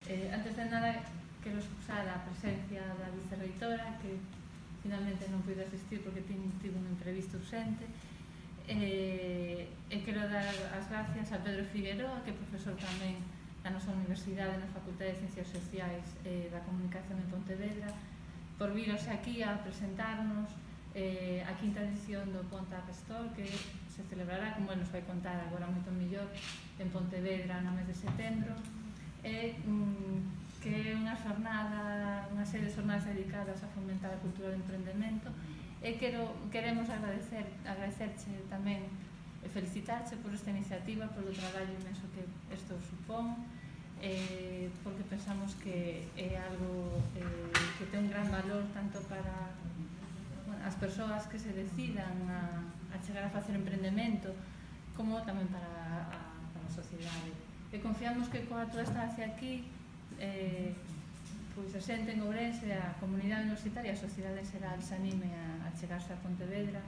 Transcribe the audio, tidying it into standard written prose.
Antes de nada, quero excusar a presencia da vicerreitora, que finalmente non puido asistir porque tivo un imprevisto urgente. E quero dar as gracias a Pedro Figueroa, que é profesor tamén da nosa Universidade na Facultade de Ciencias Sociais da Comunicación en Pontevedra, por virose aquí a presentarnos a quinta edición do Ponta Pastor, que se celebrará, como ele nos vai contar agora moito mellor, en Pontevedra no mes de setembro, que é unha serie de jornadas dedicadas a fomentar a cultura do emprendemento. E queremos agradecerche tamén e felicitarche por esta iniciativa, polo traballo inmenso que isto supón, porque pensamos que é algo que ten un gran valor tanto para as persoas que se decidan a chegar a facer emprendemento, como tamén para a sociedade. E confiamos que coa túa estancia aquí pois a xente en Ourense, a comunidade universitaria, a sociedade en xeral se anime a chegarse a Pontevedra